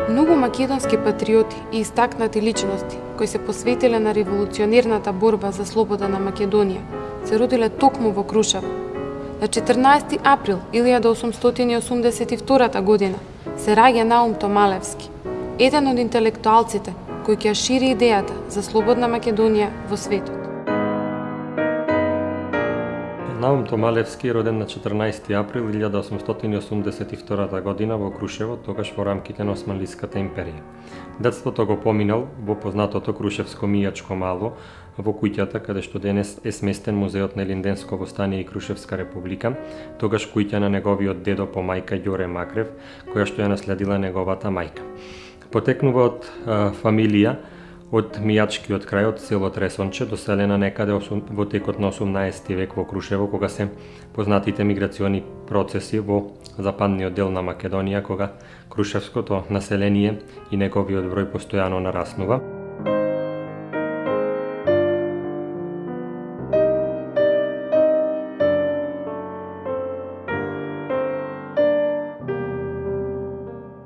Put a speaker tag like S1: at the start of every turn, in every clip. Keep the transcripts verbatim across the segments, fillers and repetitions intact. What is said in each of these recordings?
S1: Многу македонски патриоти и истакнати личности кои се посветиле на револуционерната борба за слобода на Македонија се родиле токму во Крушево. На четрнаесети април илјада осумстотини и осумдесет и втора година се раѓа Наум Томалевски, еден од интелектуалците кој ќе ја шири идејата за слободна Македонија во светот.
S2: Наум Томалевски е роден на четрнаесети април илјада осумстотини и осумдесет и втора година во Крушево, тогаш во рамките на Османлиската империја. Детството го поминал во познатото Крушевско мијачко мало, во куќата каде што денес е сместен музеот на Илинденско востание и Крушевска република, тогаш куќа на неговиот дедо по мајка Ѓоре Макрев, која што ја наследила неговата мајка. Потекнува од а, фамилија од мијачкиот крај од село Тресонче, доселена некаде во текот на осумнаесети век во Крушево, кога се познатите миграциони процеси во западниот дел на Македонија, кога крушевското население и неговиот број постојано нараснува.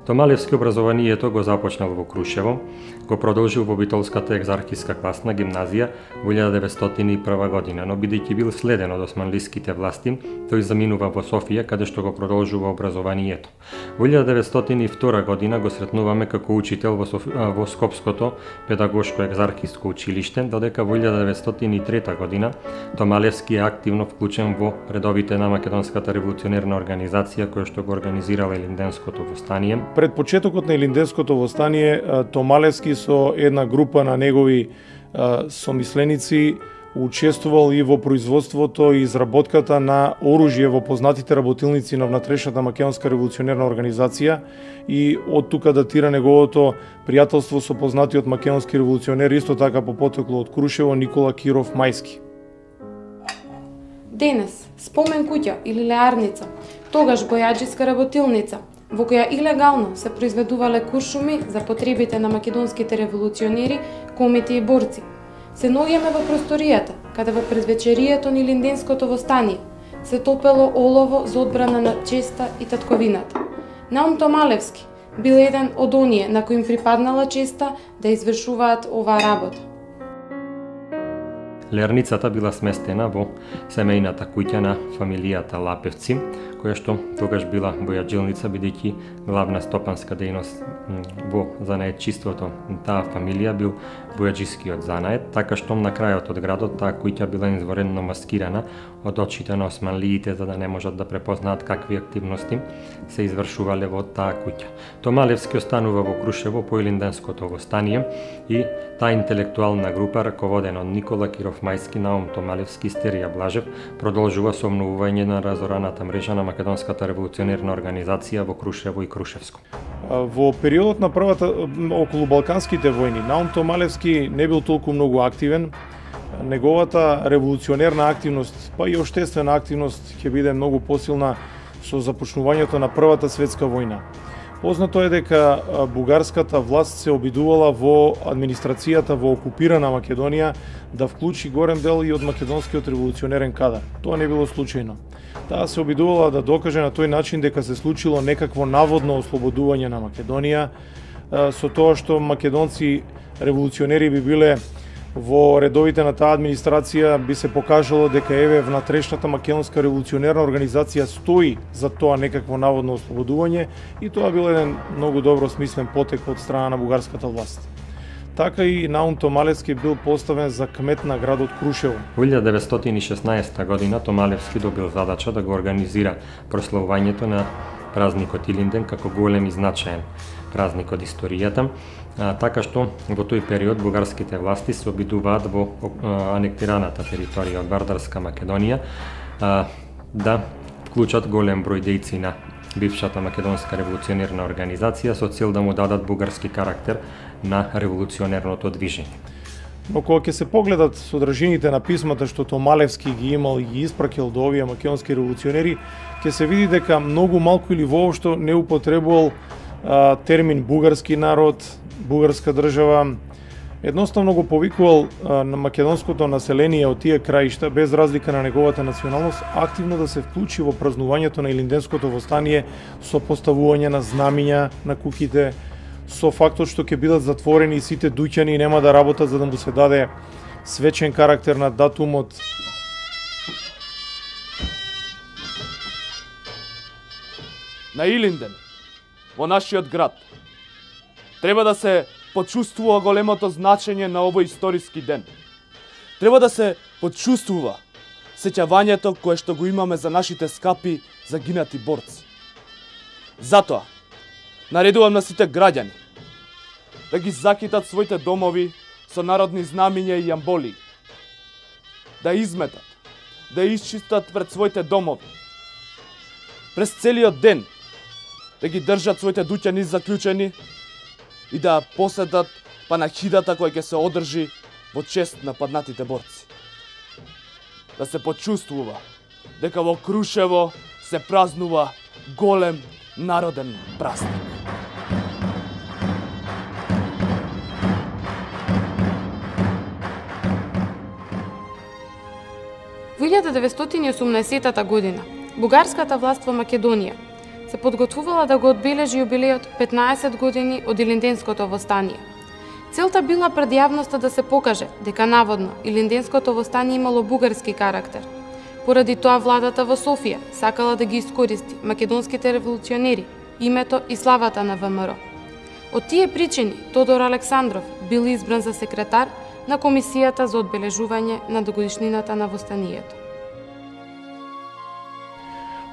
S2: Томалевски образованието го започнал во Крушево, го продолжил во Битолската екзархиска класна гимназија во илјада деветстотини и прва година, но бидејќи бил следен од османлиските власти, тој заминува во Софија, каде што го продолжува образованието. Во илјада деветстотини и втора година го сретнуваме како учител во, Соф... во Скопското педагошко екзархиско училиште, додека во илјада деветстотини и трета година Томалевски е активно вклучен во редовите на Македонската револуционерна организација која што го организирала Илинденското востание.
S3: Пред почетокот на Илинденското востание, Томалевски со една група на негови сомисленици учествувал и во производството и изработката на оружје во познатите работилници на внатрешната Македонска револуционерна организација, и од тука датира неговото пријателство со познатиот македонски револуционер, исто така по потекло од Крушево, Никола Киров Мајски.
S1: Денес спомен куќа или леарница, тогаш бојаџиска работилница, во која илегално се произведувале куршуми за потребите на македонските револуционери, комити и борци. Се наоѓаме во просторијата, каде во предвечерието на Илинденското востание се топело олово за одбрана на честа и татковината. Наум Томалевски бил еден од оние на кои им припаднала честа да извршуваат оваа работа.
S2: Леарницата била сместена во семејната куќа на фамилијата Лапевци, која што тогаш била бојаджилница, бидејќи главна стопанска дејност во занаетчиството на таа фамилија бил бојаџискиот занает, така што на крајот од градот таа куќа била изворедно маскирана од очите на османлиите, за да не можат да препознаат какви активности се извршувале во таа куќа. Томалевски останува во Крушево по Илинденското востание и таа интелектуална група, раководена од Никола Киров Мајски, Наум Томалевски и Стерија Блажев, продолжува со обновување на разораната мрежа на Македонската револуционерна организација во Крушево и Крушевско.
S3: Во периодот на првата околу Балканските војни, Наум Томалевски не бил толку многу активен. Неговата револуционерна активност, па и оштествена активност ќе биде многу посилна со започнувањето на Првата светска војна. Познато е дека бугарската власт се обидувала во администрацијата во окупирана Македонија да вклучи горен дел и од македонскиот револуционерен кадар. Тоа не било случајно. Таа се обидувала да докаже на тој начин дека се случило некакво наводно ослободување на Македонија, со тоа што македонци револуционери би биле во редовите на таа администрација, би се покажало дека еве внатрешната македонска револуционерна организација стои за тоа некакво наводно ослободување, и тоа бил еден многу добро смислен потек од страна на бугарската власт. Така и Наум Томалевски бил поставен за кмет на градот Крушево.
S2: Во илјада деветстотини и шеснаесета година Томалевски добил задача да го организира прославувањето на празникот Илинден како голем и значаен празник од историјата, а, така што во тој период бугарските власти се обидуваат во а, анектираната територија од Вардарска Македонија а, да вклучат голем број дејци на бившата македонска револуционерна организација со цел да му дадат бугарски карактер на револуционерното движење.
S3: Но кога ќе се погледат содржините на писмата што Томалевски ги имал и ги испракил до овие македонски револуционери, ќе се види дека многу малку или воопшто не употребувал а, термин бугарски народ, бугарска држава. Едноставно го повикувал а, на македонското население од тие краишта, без разлика на неговата националност, активно да се вклучи во празнувањето на Илинденското востание со поставување на знамиња на куќите, со фактот што ќе бидат затворени сите дуќани и нема да работат за да му се даде свечен карактер на датумот.
S4: На Илинден, во нашиот град, треба да се почувствува големото значење на овој историски ден. Треба да се почувствува сеќавањето кое што го имаме за нашите скапи загинати борци. Затоа, наредувам на сите граѓани да ги закитат своите домови со народни знамиња и јамболи, да изметат, да исчистат пред своите домови, през целиот ден да ги држат своите дуќани заклучени и да поседат панахидата која ќе се одржи во чест на паднатите борци. Да се почувствува дека во Крушево се празнува голем народен празник.
S1: Во илјада деветстотини и осумнаесеттата година, бугарската власт во Македонија се подготвувала да го одбележи јубилејот петнаесет години од Илинденското востание. Целта била пред јавноста да се покаже дека наводно Илинденското востание имало бугарски карактер. Поради тоа владата во Софија сакала да ги искористи македонските револуционери, името и славата на ВМРО. Од тие причини Тодор Александров бил избран за секретар на Комисијата за одбележување на годишнината на востанието.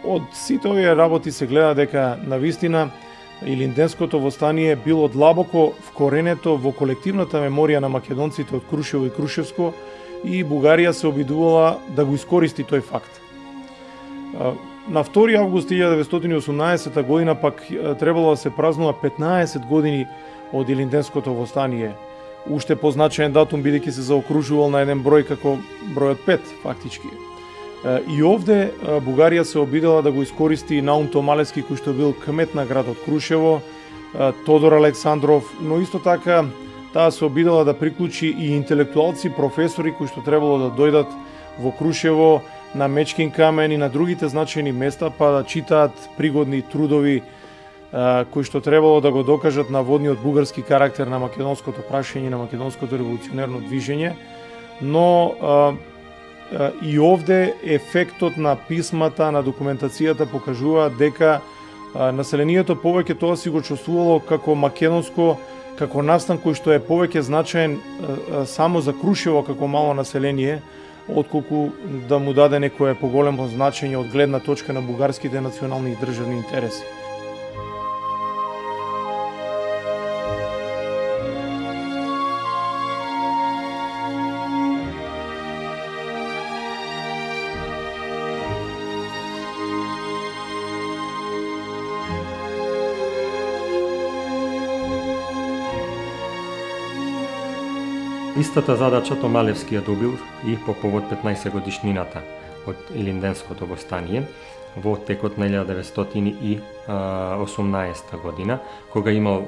S3: Од сите овие работи се гледа дека навистина Илинденското востание било длабоко вкоренето во колективната меморија на македонците од Крушево и Крушевско и Бугарија се обидувала да го искористи тој факт. На втори август илјада деветстотини и осумнаесетта година пак требало да се празнува петнаесет години од Илинденското востание. Уште позначаен датум бидејќи се заокружувал на еден број како бројот пет фактички. И овде Бугарија се обидела да го искористи Наум Томалевски, кој што бил кмет на градот Крушево, Тодор Александров, но исто така таа се обидела да приклучи и интелектуалци, професори кои што требало да дојдат во Крушево, на Мечкин камен и на другите значајни места, па да читаат пригодни трудови кои што требало да го докажат наводниот бугарски карактер на македонското прашање, на македонското револуционерно движење, но и овде ефектот на писмата, на документацијата покажува дека населението повеќе тоа си го чувствувало како македонско, како настан кој што е повеќе значаен само за Крушево како мало население, отколку да му даде некое поголемо значење од гледна точка на бугарските национални и државни интереси.
S2: Истата задача Томалевски ја добил и по повод петнаесет годишнината од Илинденското востание во текот на илјада деветстотини и осумнаесетта година, кога имал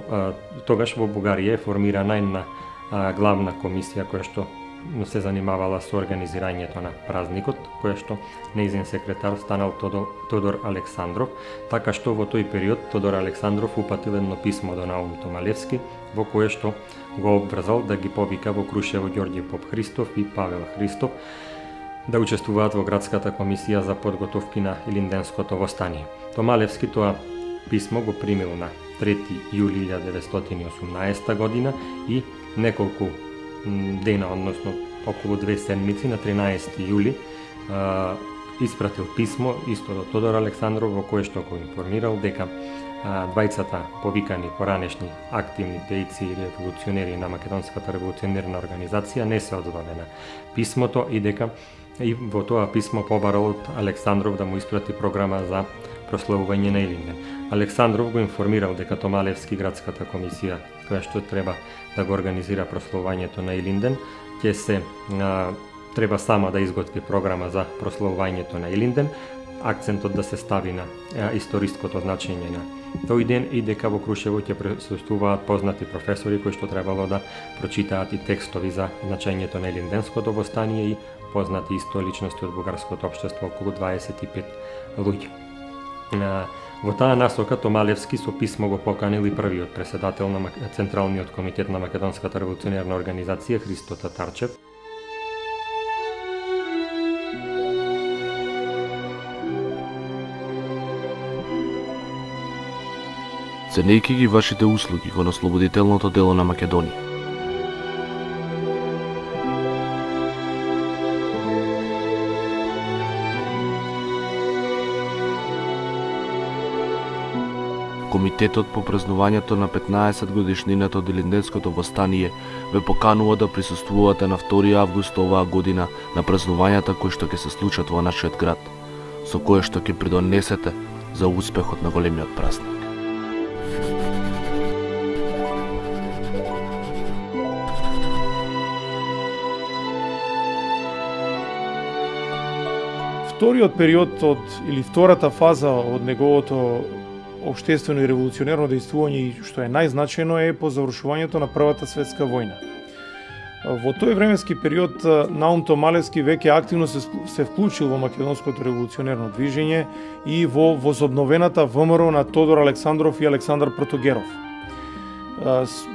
S2: тогаш во Бугарија е формирана една главна комисија која што се занимавала со организирањето на празникот, која што нејзин секретар станал Тодор Александров, така што во тој период Тодор Александров упатил едно писмо до Наум Томалевски, во кое што го обврзал да ги повика во Крушево Ѓорѓе Поп Христов и Павел Христов да учествуваат во градската комисија за подготовки на Илинденското востание. Томалевски тоа писмо го примил на трети јули илјада деветстотини и осумнаесетта година и неколку дена, односно околу две седмици, на тринаесети јули, испратил писмо исто до Тодор Александров во кое што го информирал дека двајцата повикани поранешни активни дејци и револуционери на Македонската револуционерна организација не се одзовале на писмото и дека и во тоа писмо побарал од Александров да му испрати програма за прославување на Илинден. Александров го информирал дека Томалевски, градската комисија која што треба да го организира прославувањето на Илинден, ќе се а, треба сама да изготви програма за прославувањето на Илинден, акцентот да се стави на а, историското значење на тој ден и дека во Крушево ќе присуствуваат познати професори кои што требало да прочитаат и текстови за значењето на Илинденското востание и познати исто личности од бугарското општество, околу дваесет и пет луѓе. Во таа насока Томалевски со писмо го поканил и првиот претседател на Централниот комитет на Македонската револуционерна организација Христо Татарчев.
S5: Ценејќи ги вашите услуги кон ослободителното дело на Македонија, Комитетот по празнувањето на петнаесет годишнината од Илинденското востание ве поканува да присуствувате на втори август оваа година на празнувањата кои што ќе се случат во нашиот град, со кое што ќе придонесете за успехот на големиот празник.
S3: Вториот период од или втората фаза од неговото општествено и револуционерно дејствување и што е најзначајно е по завршувањето на Првата светска војна. Во тој временски период Наум Томалевски веќе активно се, се вклучил во македонското револуционерно движење и во возобновената ВМРО на Тодор Александров и Александар Протогеров.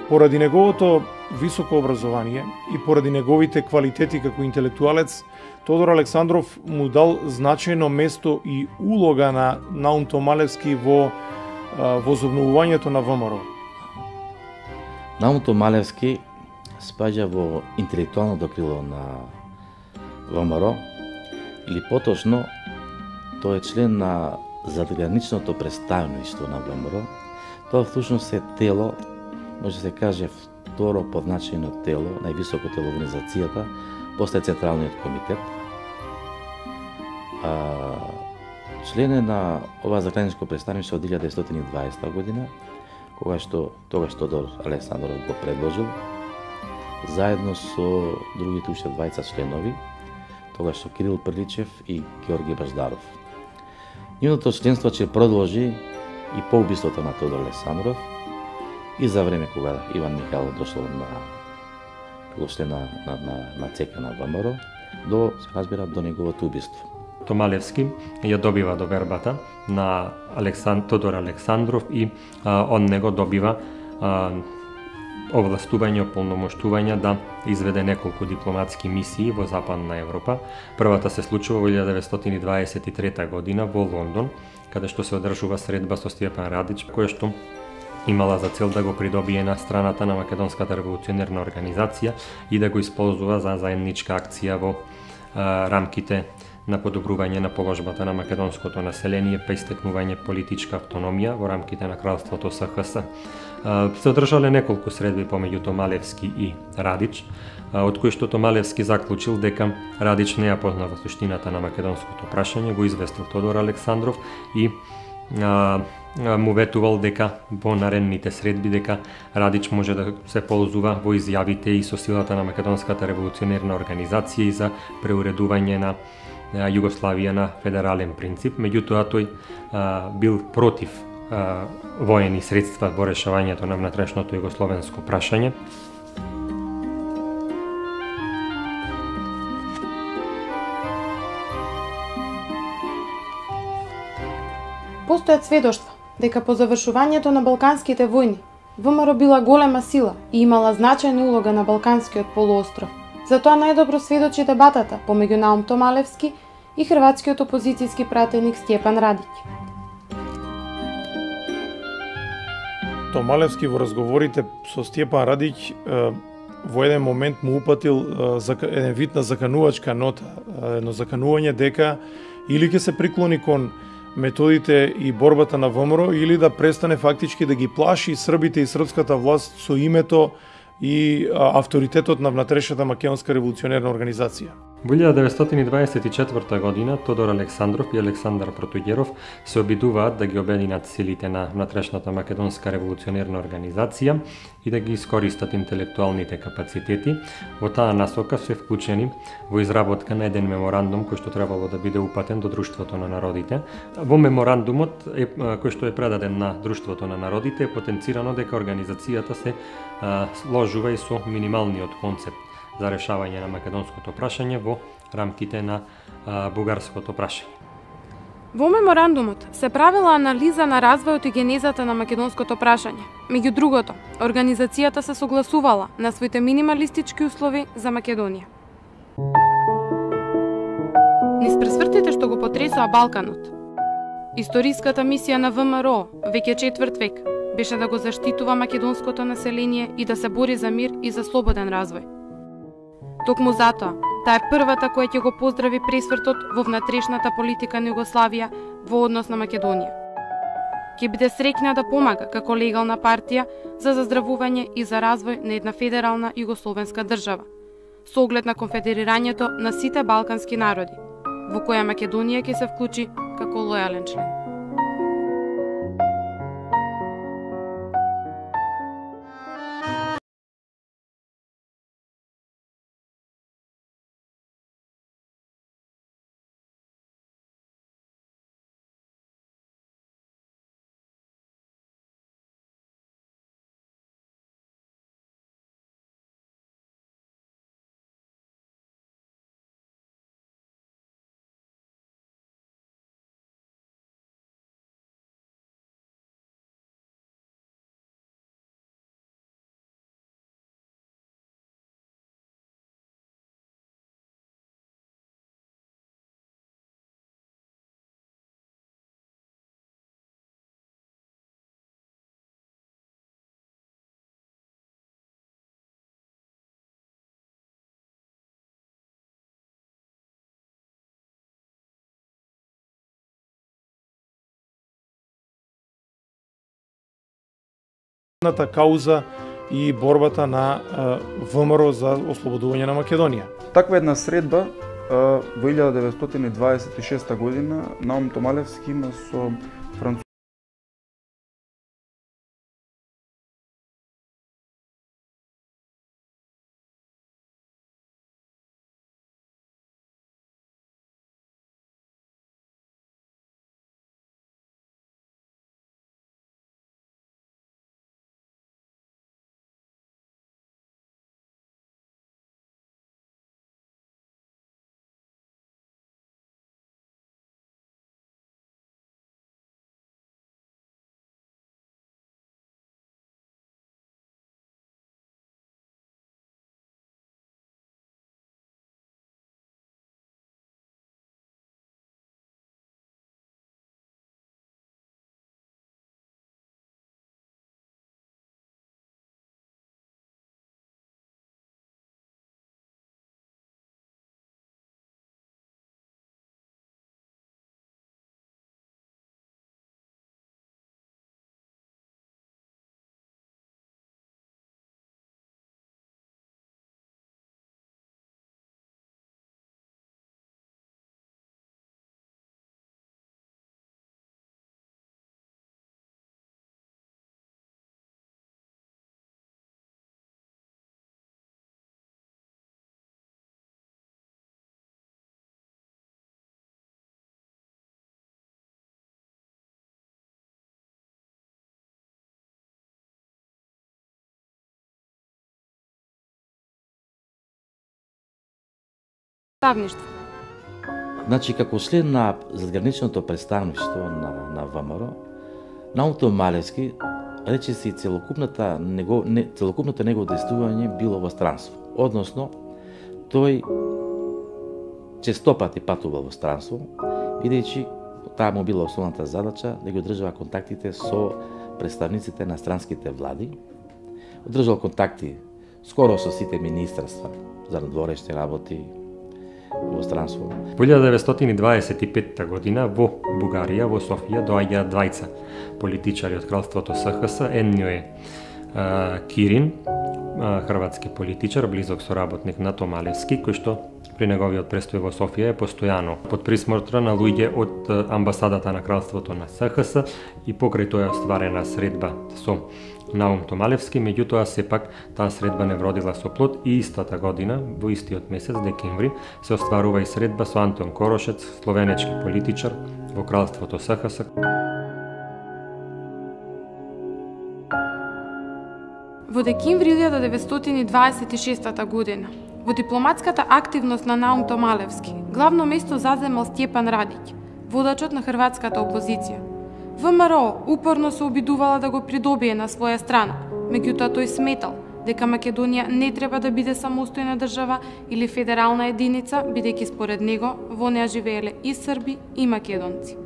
S3: Поради неговото високо образование и поради неговите квалитети како интелектуалец, Тодор Александров му дал значајно место и улога на Наум Томалевски во возобновувањето на ВМРО.
S6: Наум Томалевски спаѓа во интелектуалното крило на ВМРО, или поточно, тој е член на задграничното представништво на ВМРО. Тоа всушност е тело, може да се каже второ подначајно тело, највисоко тело во организацијата, после Централниот комитет. А, член е на ова заграничко представништво од илјада деветстотини и дваесета година, кога што тогаш Тодор Александров го предложил, заедно со другите уште двајца членови, тогаш што Кирил Приличев и Георги Баждаров. Нивното членство ќе продолжи и по убиството на Тодор Александров и за време кога Иван Михайлов дошло на како член на, на, на, на ЦК на ВМРО, до, се разбира, до неговото убиство.
S2: Томалевски ја добива довербата на Александ... Тодор Александров и а, он него добива а, овластување, ополномоштување да изведе неколку дипломатски мисии во Западна Европа. Првата се случува во илјада деветстотини дваесет и трета година во Лондон, каде што се одржува средба со Стјепан Радич, која што имала за цел да го придобие на страната на Македонската револуционерна организација и да го исползува за заедничка акција во а, рамките на подобрување на положбата на македонското население, па истекнување политичка автономија во рамките на кралството С Х С. Се одржале неколку средби помеѓу Томалевски и Радич, од кои што Томалевски заклучил дека Радич не ја познава суштината на македонското прашање, го известил Тодор Александров и а, му ветувал дека во наредните средби дека Радич може да се ползува во изјавите и со силата на Македонската револуционерна организација и за преуредување на Југославија на федерален принцип. Меѓутоа тој а, бил против а, воени средства во решавањето на внатрешното југословенско прашање.
S1: Постојат сведоштва дека по завршувањето на Балканските војни ВМРО била голема сила и имала значајна улога на Балканскиот полуостров. Затоа најдобро сведочи дебатата помеѓу Наум Томалевски и хрватскиот опозицијски пратеник Стјепан Радич.
S3: Томалевски во разговорите со Стјепан Радич во еден момент му упатил еден вид на заканувачка нота, едно заканување дека или ќе се приклони кон методите и борбата на ВМРО или да престане фактички да ги плаши србите и српската власт со името и авторитетот на внатрешната македонска револуционерна организација.
S2: Во илјада деветстотини дваесет и четврта година Тодор Александров и Александар Протогеров се обидуваат да ги обединат силите на внатрешната македонска револуционерна организација и да ги искористат интелектуалните капацитети. Во таа насока се вклучени во изработка на еден меморандум кој што требало да биде упатен до Друштвото на народите. Во меморандумот е, кој што е предаден на Друштвото на народите е потенцирано дека организацијата се а, сложува и со минималниот концепт за решавање на македонското прашање во рамките на а, бугарското прашање.
S1: Во меморандумот се правила анализа на развојот и генезата на македонското прашање. Меѓу другото, организацијата се согласувала на своите минималистички услови за Македонија. Низ пресвртите што го потресоа Балканот, историската мисија на ВМРО веќе четврт век беше да го заштитува македонското население и да се бори за мир и за слободен развој. Токму затоа, таа е првата која ќе го поздрави пресвртот во внатрешната политика на Југославија во однос на Македонија. Ќе биде среќна да помага како легална партија за заздравување и за развој на една федерална југословенска држава, со оглед на конфедерирањето на сите балкански народи, во која Македонија ќе се вклучи како лојален член.
S3: Кауза и борбата на ВМРО за ослободување на Македонија.
S7: Таква една средба во илјада деветстотини дваесет и шеста година Наум Томалевски има со француз
S1: Представништво.
S6: Значи, како член на задграничното представништво на, на ВМРО, Наум Томалевски речиси целокупната него, не, целокупното негово действување било во странство. Односно, тој честопати патувал во странство, бидејќи таа му била основната задача да ги одржува контактите со представниците на странските влади, одржал контакти скоро со сите министерства за надворешни работи во странство.
S2: Во илјада деветстотини дваесет и петта година во Бугарија, во Софија, доаѓаат двајца политичари од кралството С Х С. Едниот е Кирин, хрватски политичар, близок соработник на Томалевски, кој што при неговиот престој во Софија е постојано под присмотра на луѓе од амбасадата на кралството на С Х С и покрај тоа е остварена средба со Наум Томалевски, меѓутоа сепак таа средба не вродила со плод и истата година, во истиот месец, декември, се остварува и средба со Антон Корошец, словенечки политичар во кралството С Х С.
S1: Во декември илјада деветстотини дваесет и шеста година, во дипломатската активност на Наум Томалевски, главно место заземал Стјепан Радиќ, водачот на хрватската опозиција. ВМРО упорно се обидувала да го придобие на своја страна, меѓутоа тој сметал дека Македонија не треба да биде самостојна држава или федерална единица, бидејќи според него во неа живееле и срби и македонци.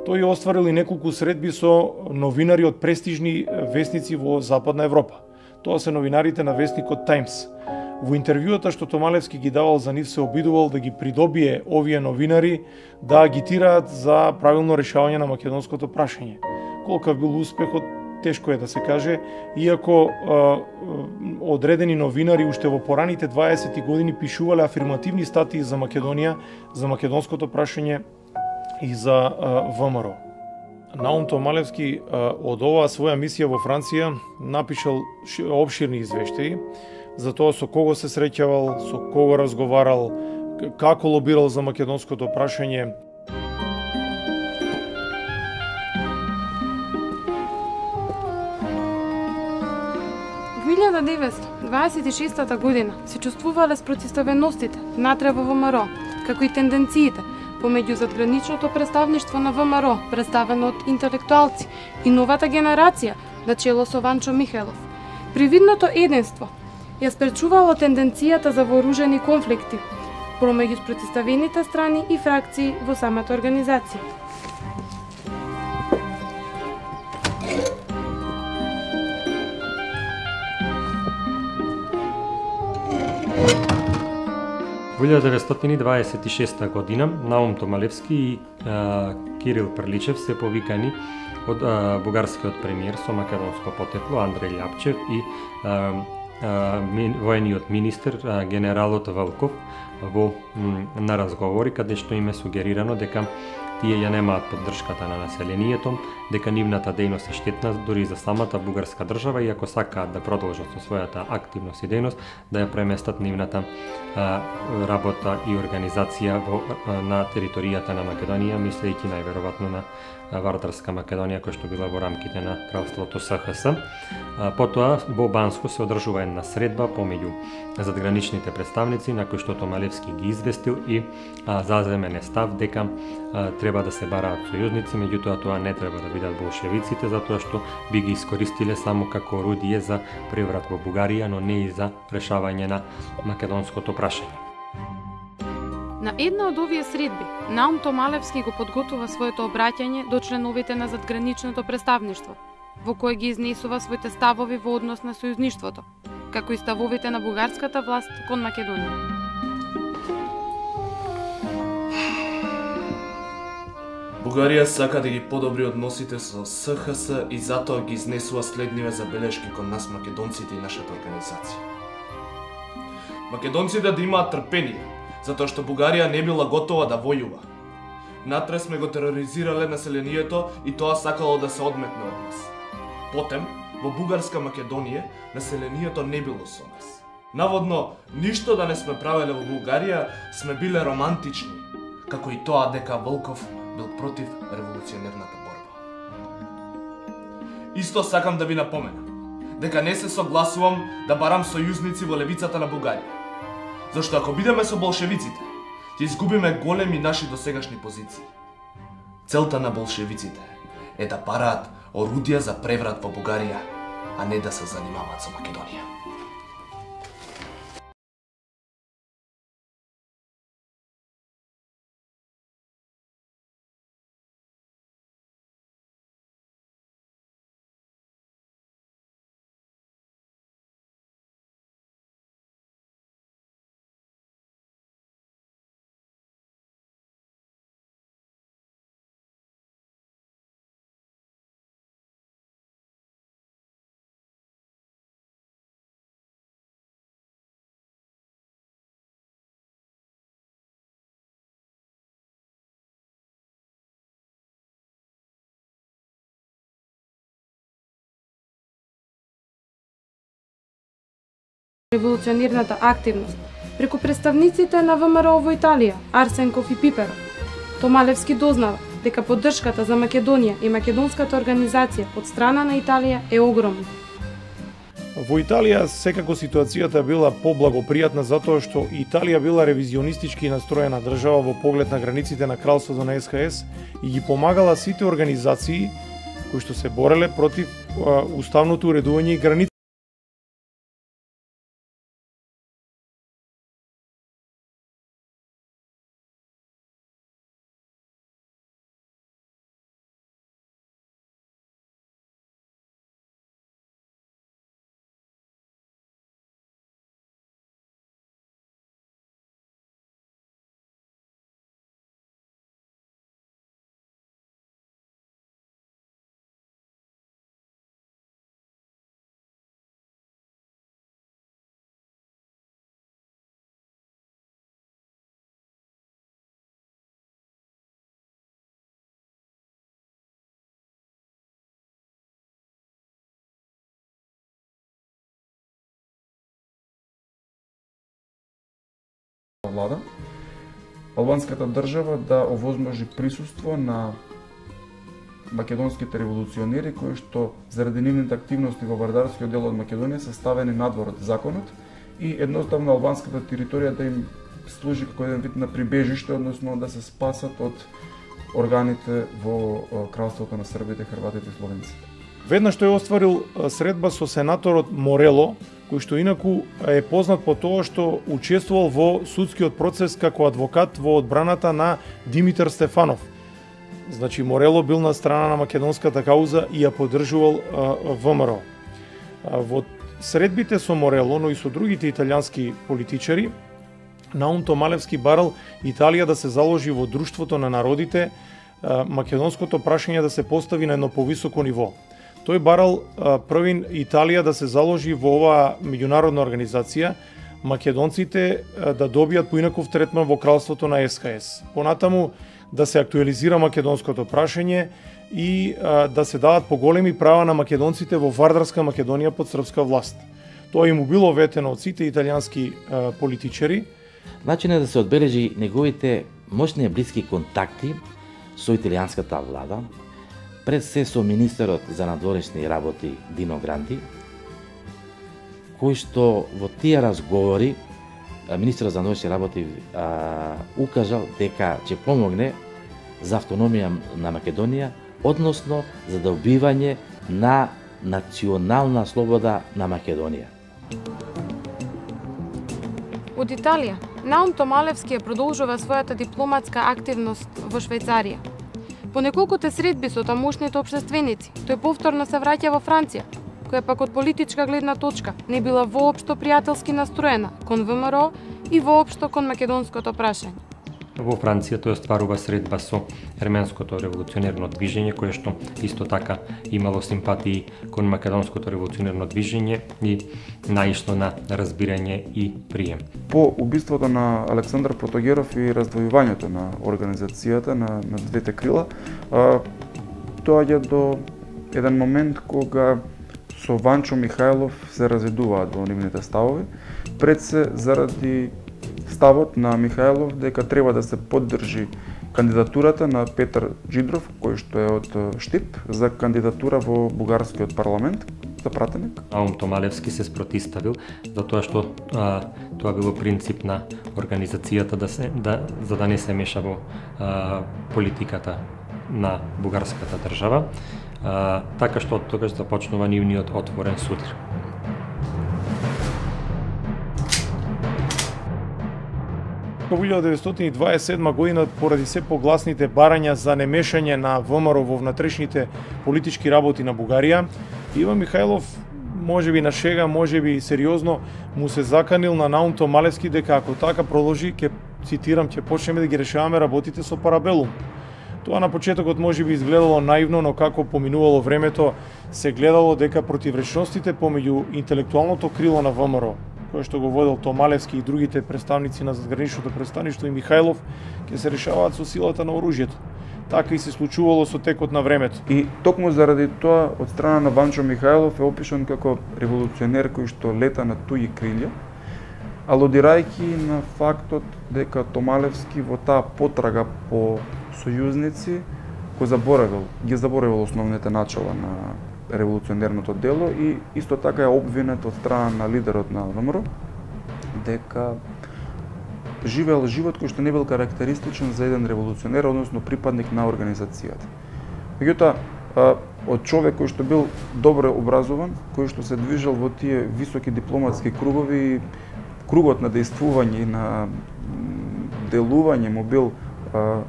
S3: Тој остварил и неколку средби со новинари од престижни весници во Западна Европа. Тоа се новинарите на весникот Таймс. Во интервјуата што Томалевски ги давал за нив се обидувал да ги придобие овие новинари да агитираат за правилно решавање на македонското прашање. Колкав бил успехот, тешко е да се каже, иако а, одредени новинари уште во пораните дваесети години пишувале афирмативни статии за Македонија, за македонското прашање и за а, ВМРО. Наум Томалевски а, од оваа своја мисија во Франција напишал обширни извештаи за тоа со кого се среќавал, со кого разговарал, како лобирал за македонското прашање.
S1: Во илјада деветстотини дваесет и шеста година се чувствувале спротивставеностите внатре во ВМРО, како и тенденциите помеѓу задграничното представништво на ВМРО, представено од интелектуалци, и новата генерација, на чело со Ванчо Михајлов. Привидното единство ја спречувало тенденцијата за вооружени конфликти помеѓу спротивставените страни и фракции во самата организација.
S2: Во илјада деветстотини дваесет и шеста година Наум Томалевски и а, Кирил Прличев се повикани од а, бугарскиот премиер со македонско потекло Андреј Љапчев и а, а, ми, воениот министер а, генералот Валков во м, на разговори каде што им е сугерирано дека тие ја немаат поддршката на населението, дека нивната дејност е штетна дури за самата бугарска држава и ако сакаат да продолжат со својата активност и дејност, да ја преместат нивната а, работа и организација во, а, на територијата на Македонија, мислејќи најверојатно на Вардарска Македонија, која што била во рамките на кралството С Х С. А, потоа во Банско се одржува една средба помеѓу задграничните представници на кој што Томалевски ги известил и а, заземене став дека а, треба да се бараат сојузници, меѓутоа тоа не треба да бидат болшевиците, затоа што би ги искористиле само како орудие за преврат во Бугарија, но не и за решавање на македонското прашање.
S1: На една од овие средби, Наум Томалевски го подготвува своето обраќање до членовите на задграничното представништво, во кое ги изнесува своите ставови во однос на сојузништвото, како и ставовите на бугарската власт кон Македонија.
S4: Бугарија сака да ги подобри односите со С Х С и затоа ги изнесува следниве забелешки кон нас македонците и нашата организација. Македонците да имаат трпение, затоа што Бугарија не била готова да војува. Натре сме го тероризирале населението и тоа сакало да се одметне од нас. Потем, во бугарска Македонија, населението не било со нас. Наводно, ништо да не сме правеле во Бугарија, сме биле романтични, како и тоа дека Волков бил против револуционерната борба. Исто сакам да ви напоменам, дека не се согласувам да барам сојузници во левицата на Бугарија. Зашто ако бидеме со болшевиците, ќе изгубиме големи наши досегашни позиции. Целта на болшевиците е да бараат орудија за преврат во Бугарија, а не да се занимаваат со Македонија.
S1: Револуционерната активност преку представниците на ВМРО во Италија, Арсенков и Пиперов. Томалевски дознава дека поддршката за Македонија и македонската организација од страна на Италија е огромна.
S3: Во Италија секако ситуацијата била поблагопријатна затоа што Италија била ревизионистички настроена држава во поглед на границите на кралството на Ес Ха Ес и ги помагала сите организации кои што се бореле против а, уставното уредување и граници.
S7: Влада, албанската држава да овозможи присуство на македонските револуционери кои што заради нивните активности во вардарскиот дел од Македонија се ставени надвор од законот и едноставно албанската територија да им служи како еден вид на прибежиште, односно да се спасат од органите во кралството на србите, хрватите и словенците.
S3: Веднаш тој остварил средба со сенаторот Морело, кој што инаку е познат по тоа што учествувал во судскиот процес како адвокат во одбраната на Димитар Стефанов. Значи Морело бил на страна на македонската кауза и ја поддржувал Вэ Ем Ер О. Во средбите со Морело, но и со другите италијански политичари, Наум Томалевски барал Италија да се заложи во друштвото на народите, македонското прашање да се постави на едно повисоко ниво. Тој барал првин Италија да се заложи во оваа меѓународна организација, македонците да добијат поинаков третман во кралството на Ес Ха Ес. Понатаму да се актуализира македонското прашање и да се дават поголеми права на македонците во Вардарска Македонија под српска власт. Тоа им било ветено од сите италијански политичари.
S6: Начин е да се одбележи неговите мощни блиски контакти со италијанската влада, пред се со министерот за надворешни работи Дино Гранди, кој што во тие разговори министерот за надворешни работи а, укажал дека ќе помогне за автономија на Македонија, односно за добивање на национална слобода на Македонија.
S1: Од Италија, Наум Томалевски ја продолжува својата дипломатска активност во Швајцарија. По неколкуте средби со тамошните општественици, тој повторно се враќа во Франција, која пак од политичка гледна точка не била воопшто пријателски настроена кон Вэ Ем Ер О и воопшто кон македонското прашање.
S2: Во Франција тој остварува средба со ерменското револуционерно движење, кое што исто така имало симпатии кон македонското револуционерно движење и наишло на разбирање и прием.
S7: По убиството на Александар Протогеров и раздвојувањето на организацијата на, на двете крила, а, доаѓа до еден момент кога со Ванчо Михајлов се разведуваат во нивните ставови, пред се заради ставот на Михајлов дека треба да се поддржи кандидатурата на Петар Джидров, кој што е од Штип, за кандидатура во бугарскиот парламент за пратеник.
S2: Наум Томалевски се спротиставил затоа што а, тоа било принцип на организацијата да се да за да не се меша во а, политиката на бугарската држава, а, така што од тогаш започнува нивниот отворен судир.
S3: Во илјада деветстотини дваесет и седма година, поради се погласните барања за немешање на Вэ Ем Ер О во внатрешните политички работи на Бугарија, Иван Михајлов, можеби на шега, можеби сериозно, му се заканил на Наум Томалевски дека ако така продолжи, ќе цитирам, ќе почнеме да ги решаваме работите со парабелум. Тоа на почетокот можеби изгледало наивно, но како поминувало времето, се гледало дека противречностите помеѓу интелектуалното крило на Вэ Ем Ер О, кој што го водел Томалевски и другите представници на задграничното представништво и Михајлов, ќе се решаваат со силата на оружјето. Така и се случувало со текот на времето.
S7: И токму заради тоа, од страна на Ванчо Михајлов е опишан како револуционер кој што лета на туѓи крилја, алудирајќи на фактот дека Томалевски во таа потрага по сојузници го заборавил, ги заборавил основните начала на револуционерното дело и исто така е обвинет од страна на лидерот на ВМРО дека живеел живот кој што не бил карактеристичен за еден револуционер, односно припадник на организацијата. Меѓутоа, од човек кој што бил добро образован, кој што се движел во тие високи дипломатски кругови, кругот на действување и на делување му бил а,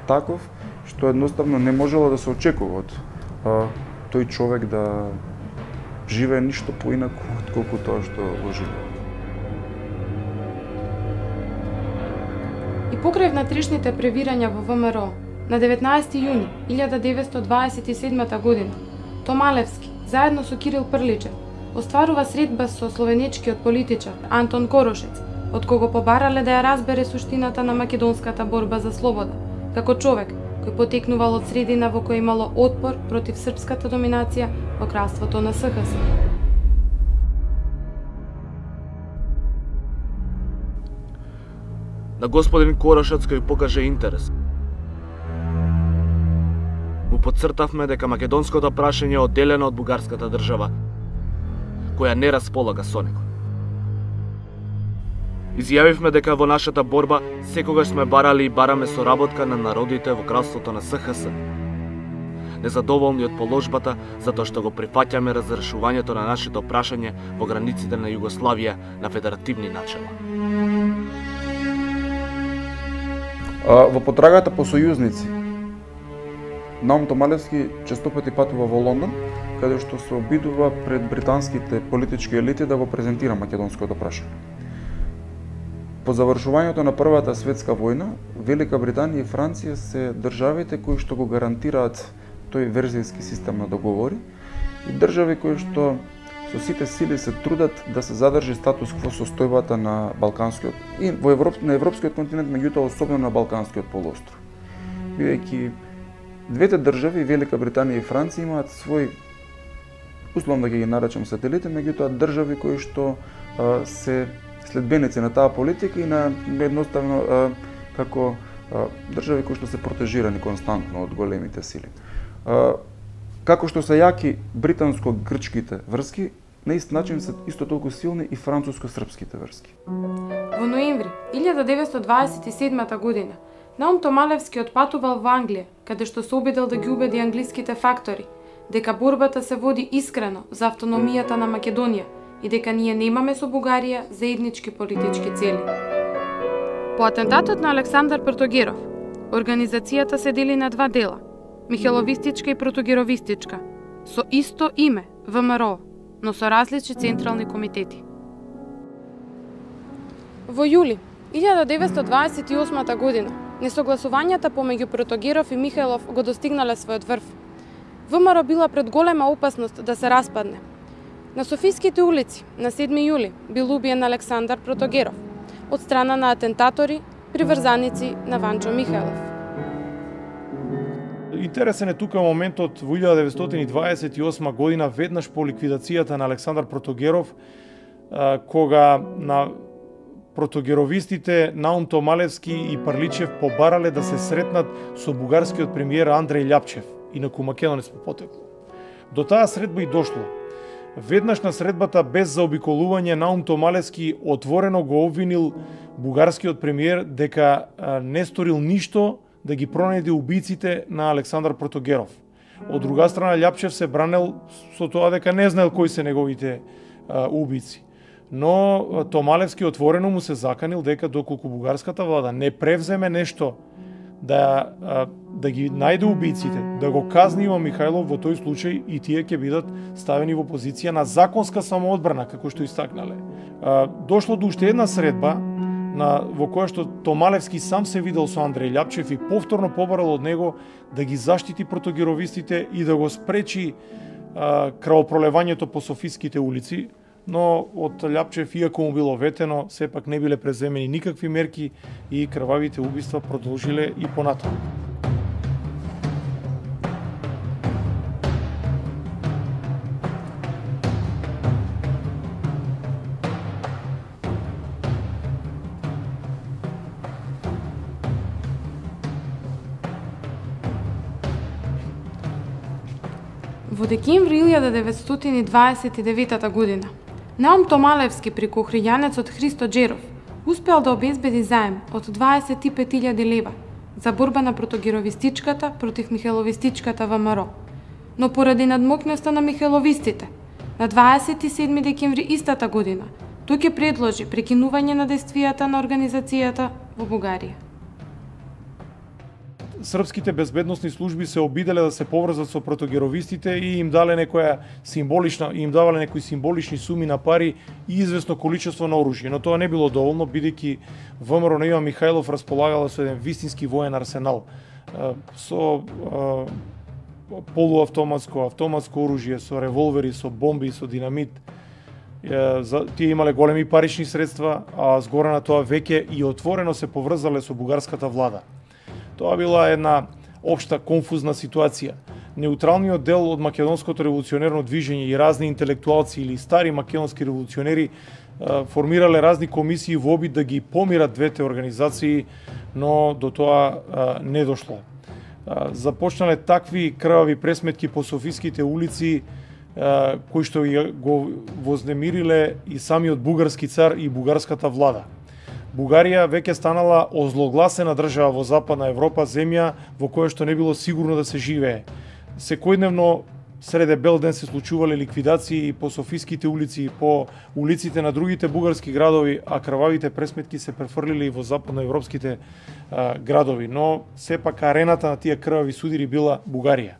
S7: таков, што едноставно не можело да се очекува од а, тој човек да живее ништо поинаку отколку тоа што го живее.
S1: И покрај внатрешните превирања во ВМРО, на деветнаесети јуни илјада деветстотини дваесет и седма година, Томалевски, заедно со Кирил Прличев, остварува средба со словенечкиот политичар Антон Корошец, од кого побарале да ја разбере суштината на македонската борба за слобода, како човек кој потекнувал од средина во која имало отпор против српската доминација во кралството на СХС.
S5: На господин Корошец кој покаже интерес. Му подцртавме дека македонското прашање е одделено од бугарската држава, која не располага со него. Изјавивме дека во нашата борба секогаш сме барали и бараме соработка на народите во кралството на СХС. Незадоволни од положбата затоа што го прифаќаме разрешувањето на нашето прашање во границите на Југославија на федеративни начала.
S7: Во потрагата по сојузници, Наум Томалевски често пати патува во Лондон, каде што се обидува пред британските политички елити да го презентира македонското прашање. По завршувањето на Првата светска војна, Велика Британија и Франција се државите кои што го гарантираат тој верзијски систем на договори и држави кои што со сите сили се трудат да се задржи статус кво состојбата на Балканскиот и во Европ, на европскиот континент, меѓутоа особено на Балканскиот полуостров. Бидејќи двете држави, Велика Британија и Франција, имаат свој, условно да ги наречам сателити, меѓутоа држави кои што а, се следбеници на таа политика и на едноставно а, како а, држави кои што се протежирани константно од големите сили. А, како што се јаки британско-грчките врски, на ист начин се исто толку силни и француско-српските врски.
S1: Во ноември илјада деветстотини дваесет и седма година Наум Томалевски отпатувал во Англија, каде што се обидел да ги убеди англиските фактори дека борбата се води искрено за автономијата на Македонија и дека ние немаме со Бугарија заеднички политички цели. По атентатот на Александар Протогеров, организацијата се дели на два дела – Михеловистичка и Протогеровистичка, со исто име ВМРО, но со различни централни комитети. Во јули илјада деветстотини дваесет и осма година несогласувањата помеѓу Протогеров и Михајлов го достигнале својот врв. ВМРО била пред голема опасност да се распадне. На Софиските улици на седми јули бил убиен Александар Протогеров од страна на атентатори, приврзаници на Ванчо Михајлов.
S3: Интересен е тука моментот во илјада деветстотини дваесет и осма година, веднаш по ликвидацијата на Александар Протогеров, кога на протогеровистите Наум Томалевски и Прличев побарале да се сретнат со бугарскиот премиер Андреј Љапчев, инаку македонец по потекло. До таа средба и дошло. Веднаш на средбата без заобиколување Наум Томалевски отворено го обвинил бугарскиот премиер дека не сторил ништо да ги пронајде убиците на Александар Протогеров. Од друга страна Љапчев се бранел со тоа дека не знаел кои се неговите а, убици. Но Томалевски отворено му се заканил дека доколку бугарската влада не превземе нешто да, да ги најде убиците, да го казни Иван Михајлов, во тој случај и тие ќе бидат ставени во позиција на законска самоодбрана, како што истакнале. Дошло до уште една средба на, во која што Томалевски сам се видел со Андреј Љапчев и повторно побарал од него да ги заштити протогеровистите и да го спречи а, крвопролевањето по Софиските улици, но од Љапчев, иако му било ветено, сепак не биле преземени никакви мерки и крвавите убиства продолжиле и понатаму.
S1: Во декември илјада деветстотини и дваесет и девета година, Наум Томалевски преку охријанецот Христо Джеров успеал да обезбеди заем од дваесет и пет илјади лева за борба на протогировистичката против михеловистичката ВМРО. Но поради надмокноста на михеловистите, на дваесет и седми декември истата година, тој ќе предложи прекинување на действијата на организацијата во Бугарија.
S3: Српските безбедносни служби се обиделе да се поврзат со протогеровистите и им дале некоја символична, им давале некои символични суми на пари и известно количество на оружје, но тоа не било доволно, бидејќи ВМРО на Иван Михајлов располагала со еден вистински воен арсенал со полуавтоматско, автоматско оружје, со револвери, со бомби, со динамит. Тие имале големи парични средства, а згоре на тоа веќе и отворено се поврзале со бугарската влада. Тоа била една општа конфузна ситуација. Неутралниот дел од македонското револуционерно движење и разни интелектуалци или стари македонски револуционери формирале разни комисии во обид да ги помират двете организации, но до тоа не дошло. Започнале такви крвави пресметки по софиските улици, кои што го вознемириле и самиот бугарски цар и бугарската влада. Бугарија веќе станала озлогласена држава во Западна Европа, земја во која што не било сигурно да се живее. Секојдневно среде бел ден се случувале ликвидации по софиските улици и по улиците на другите бугарски градови, а крвавите пресметки се префрлиле и во западноевропските а, градови, но сепак арената на тие крвави судири била Бугарија.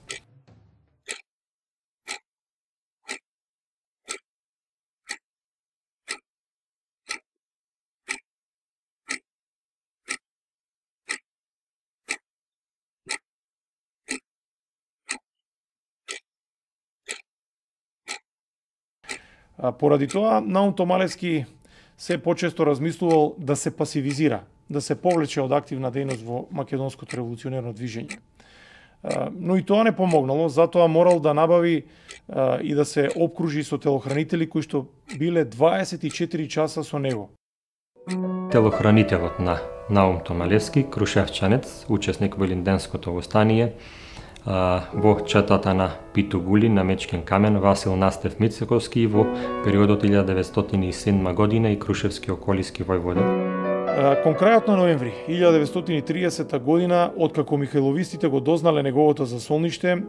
S3: Поради тоа, Наум Томалевски се почесто размислувал да се пасивизира, да се повлече од активна дејност во македонското револуционерно движење. Но и тоа не помогнало, затоа морал да набави и да се опкружи со телохранители кои што биле дваесет и четири часа со него.
S2: Телохранителот на Наум Томалевски, крушевчанец, учесник во Илинденското востание, во четата на Питу Гули на Мечкен камен, Васил Настев Мицековски во периодот илјада деветстотини и седма година и Крушевски околиски војвода.
S3: Кон крајот на ноември илјада деветстотини и триесета година, откако михајловистите го дознале неговото засолниште,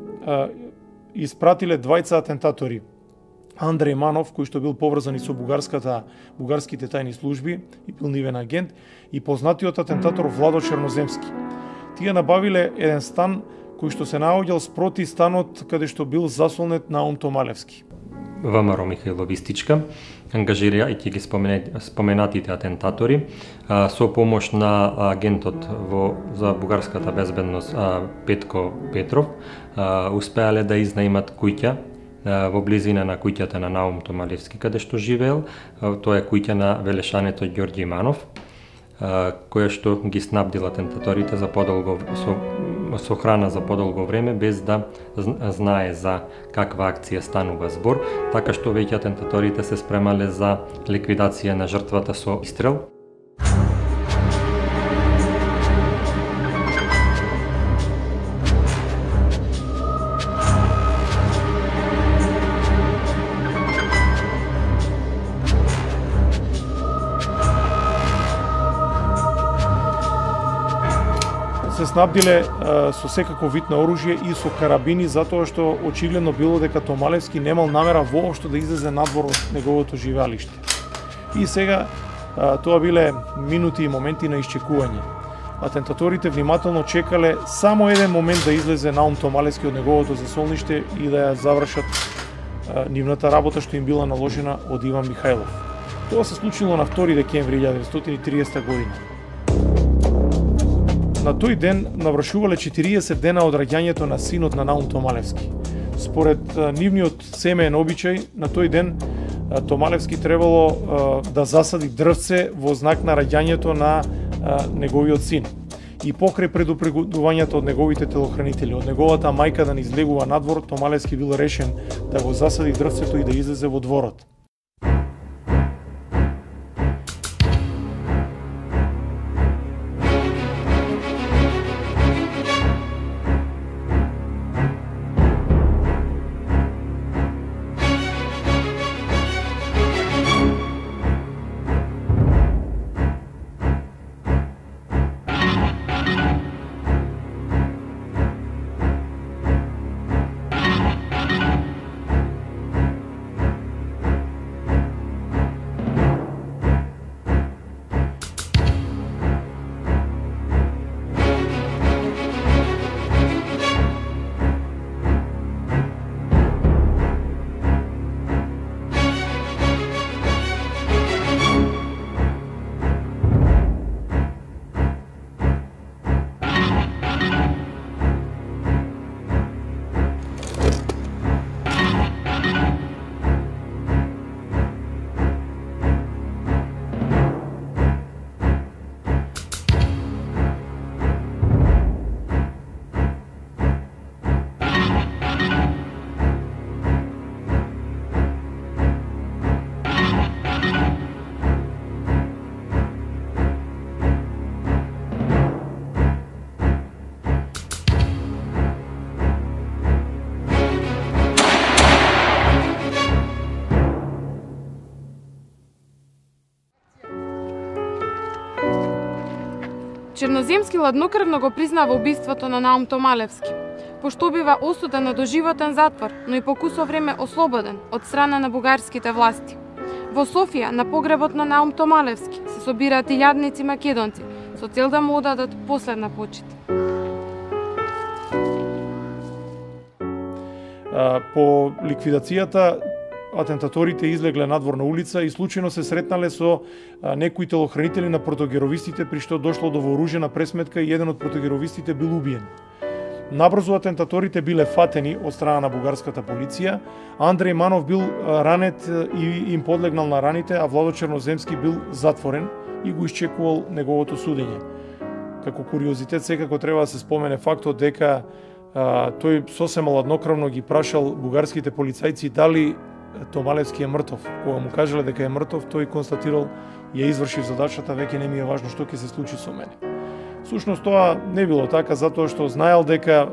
S3: испратиле двајца атентатори. Андреј Манов, кој што бил поврзан и со бугарската бугарските тајни служби и бил нивен агент, и познатиот атентатор Владо Черноземски. Тие набавиле еден стан кој што се наоѓал спроти станот каде што бил засолнет Наум Томалевски.
S2: ВМРО михајловистичка ангажирајќи ги споменатите атентатори со помош на агентот во за бугарската безбедност Петко Петров, успеале да изнаимат куќа во близина на куќата на Наум Томалевски каде што живеел. Тоа е куќа на велешането Ѓорѓи Манов, која што ги снабдила атентаторите за подолго со со храна за подолго време без да знае за каква акција станува збор, така што веќе атентаторите се спремале за ликвидација на жртвата со истрел.
S3: Се снабдиле а, со секаков вид на оружје и со карабини, затоа што очигледно било дека Томалевски немал намера воопшто да излезе надвор од неговото живеалиште. И сега а, тоа биле минути и моменти на исчекување. Атентаторите внимателно чекале само еден момент да излезе Наум Томалевски од неговото засолниште и да ја завршат а, нивната работа што им била наложена од Иван Михајлов. Тоа се случило на втори декември илјада деветстотини и тридесета година. На тој ден навршувале четириесет дена од раѓањето на синот на Наум Томалевски. Според нивниот семеен обичај, на тој ден Томалевски требало да засади дрвце во знак на раѓањето на неговиот син. И покрај предупредувањето од неговите телохранители, од неговата мајка да не излегува надвор, Томалевски бил решен да го засади дрвцето и да излезе во дворот.
S1: Черноземски ладнокрвно го признава убиството на Наум Томалевски, пошто бива осуден на доживотен затвор, но и по кусо време ослободен од страна на бугарските власти. Во Софија, на погребот на Наум Томалевски, се собираат илјадници македонци со цел да му одадат последна почит.
S3: По ликвидацијата, атентаторите излегле надвор на улица и случајно се сретнале со некои телохранители на протогеровистите, при што дошло до вооружена пресметка и еден од протогеровистите бил убиен. Набрзо атентаторите биле фатени од страна на бугарската полиција, Андреј Манов бил ранет и им подлегнал на раните, а Владо Черноземски бил затворен и го исчекувал неговото судење. Како куриозитет секако треба да се спомене фактот дека а, тој сосема ладнокрвно ги прашал бугарските полицајци дали Томалевски е мртов. Кога му кажале дека е мртов, тој констатирал: ја извршив задачата, веќе не ми е важно што ќе се случи со мене. Сушност тоа не било така, затоа што знаел дека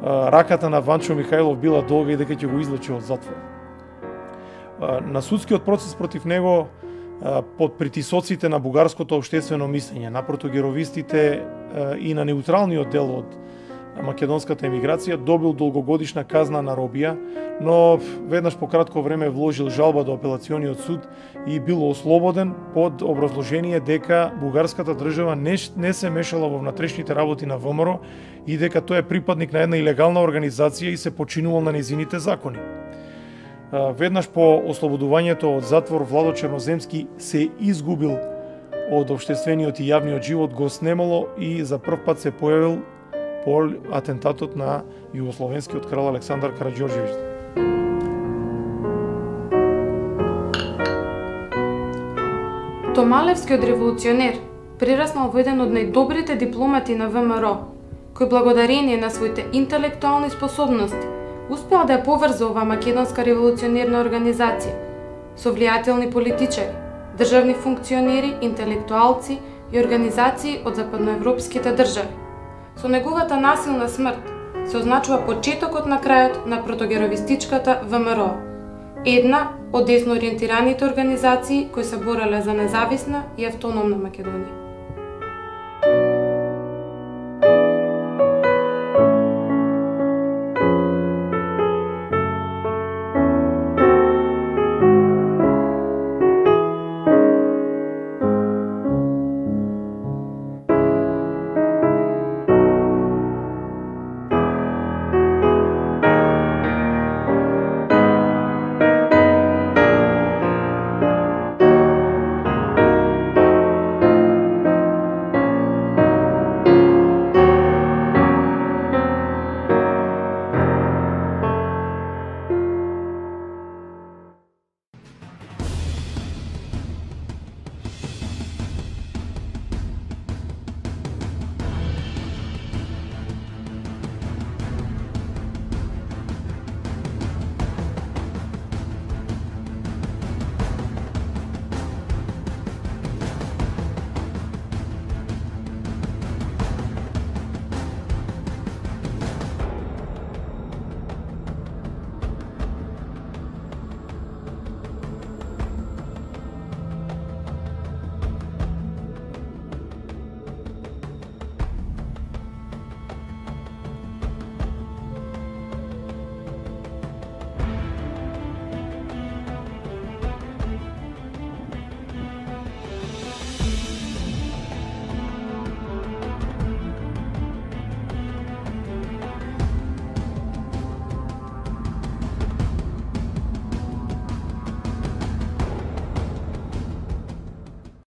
S3: а, раката на Ванчо Михајлов била долга и дека ќе го излечи од затвор. А, на судскиот процес против него, а, под притисоците на бугарското општествено мислење, на протогеровистите а, и на неутралниот дел од македонската емиграција, добил долгогодишна казна на робија, но веднаш по кратко време вложил жалба до апелациониот суд и бил ослободен под образложение дека бугарската држава не, не се мешала во внатрешните работи на ВМРО и дека тој е припадник на една илегална организација и се починувал на незините закони. Веднаш по ослободувањето од затвор, Владо Черноземски се изгубил од општествениот и јавниот живот, го снемало и за прв пат се појавил по атентатот на југословенскиот крал Александар Караѓорđević.
S1: Томалевскиот револуционер прераснал во еден од најдобрите дипломати на ВМРО, кој благодарение на своите интелектуални способности успеал да ја поврзе оваа македонска револуционерна организација со влијателни политичари, државни функционери, интелектуалци и организации од западноевропските држави. Со неговата насилна смрт се означува почетокот на крајот на протогеровистичката ВМРО, една од десно ориентираните организации кои се бореле за независна и автономна Македонија.